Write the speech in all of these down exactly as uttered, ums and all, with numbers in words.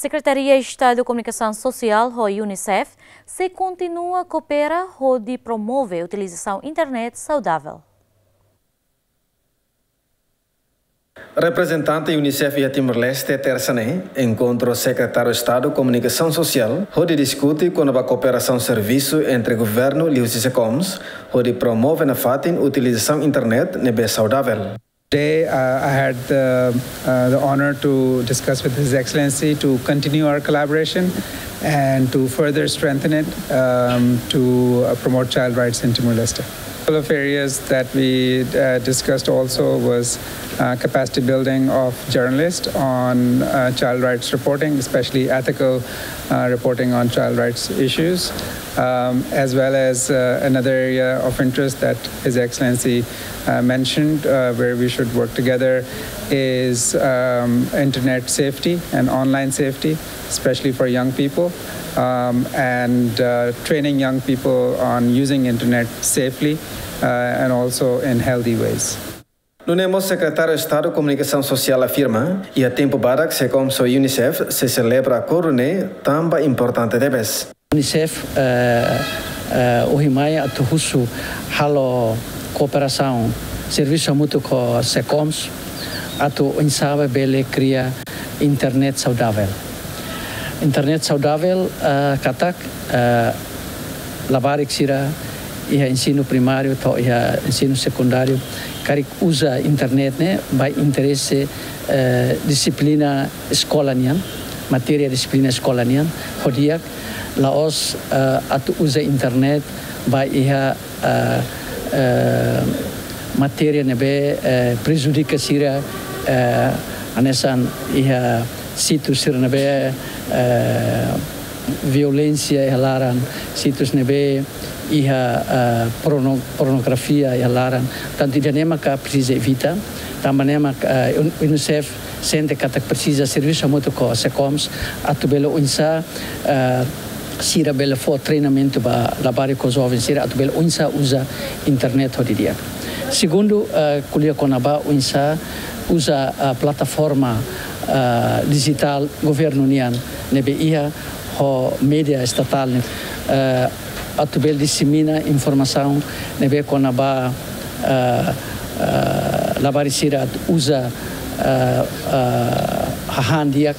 Sekretaria Estadu Komunikasaun Sosiál ho UNICEF sei kontinua koopera hodi promove utilizasaun internet saudavel. Reprezentante UNICEF iha Timor-Leste, tersa ne'e, enkontra ho Sekretáriu Estadu Komunikasaun Sosiál, hodi diskute kona-ba kooperasaun servisu entre governu liuhusi SECOMS, hodi promove nafatin utilizasaun internet ne'ebé saudavel. Today, uh, I had the, uh, the honor to discuss with His Excellency to continue our collaboration and to further strengthen it, um, to, uh, promote child rights in Timor-Leste. A couple of areas that we, uh, discussed also was, uh, capacity building of journalists on, uh, child rights reporting, especially ethical, uh, reporting on child rights issues, um, as well as, uh, another area of interest that His Excellency, uh, mentioned, uh, where we should work together is, um, internet safety and online safety, especially for young people, um, and, uh, training young people on using internet safely, uh, and also in healthy ways. Nune'e mós Sekretáriu Estadu Komunikasaun Sosiál afirma, iha tempu badak SECOMS ho UNICEF sei selebra akordu ne'e tanba importante tebes. UNICEF, eh, eh, ohin mai atu husu halo kooperasaun, servisu hamutuk ho SECOMS, atu oinsá bele kria internet saudavel. Internet saudavel, eh, katak, eh, labarik sira iha ensinu primáriu to'o iha ensinu sekundáriu karik uza internet ne'e ba interese, eh, dixiplina eskola nian, matéria dixiplina eskola nian, ho di'ak, la'ós, eh, atu uza internet ba iha, eh, eh, matéria ne'ebé, eh, prejudika sira, eh, hanesan iha situs sira ne'ebé, eh, violénsia iha laran, situs ne'ebé iha, eh, porno-, pornografia iha laran. Tantu ida-ne'e maka presiza evita, tanba ne'e maka, eh, Un-, UNICEF sente katak presiza servisu hamutuk ho SECOMS atu bele oinsá, eh, sira bele fó treinamentu ba labarik ho joven sira atu bele oinsá uza internet ho di'ak. Segundu, eh, ko'alia kona-ba oinsá uza, eh, plataforma, eh, dijitál governu nian ne'ebé iha ho média estatál nian, eh, atu bele disemina informasaun ne'ebé kona-ba, eh, eh, labarik sira atu uza, eh, eh, hahán di'ak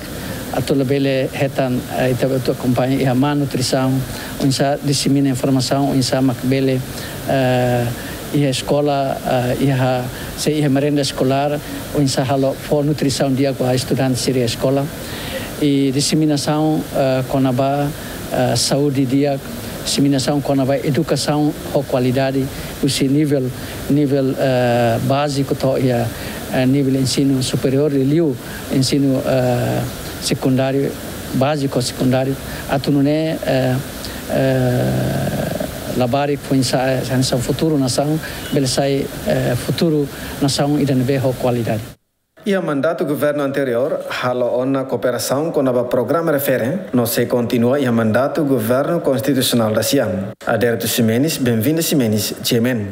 atu labele hetan, eh, ita atu akompaña iha malnutrisaun, oinsá disemina informasaun, oinsá mak bele, eh, iha eskola, eh, iha, se iha merenda eskolár, oinsá halo fó nutrisaun di'ak ba estudante sira iha eskola. I diseminasaun, eh, kona-ba, eh, saúde di'ak, diseminasaun kona-ba edukasaun ho kualidade, husi nivel, nivel, eh, báziku to'o iha, eh, nivel ensinu superiór, liuliu ensinu, eh, sekundáriu, báziku, sekundáriu, atu nune'e, eh, eh, labarik foin-sa'e, hanesan futuru nasaun, bele sai, eh, futuru nasaun ida ne'ebé ho kualidade. Iha mandatu governu anteriór, halo ona kooperasaun kona-ba programa refere, no sei kontinua iha mandatu governu konstitusionál dasian. Aderito Ximenes, Benvinda Ximenes, G M N.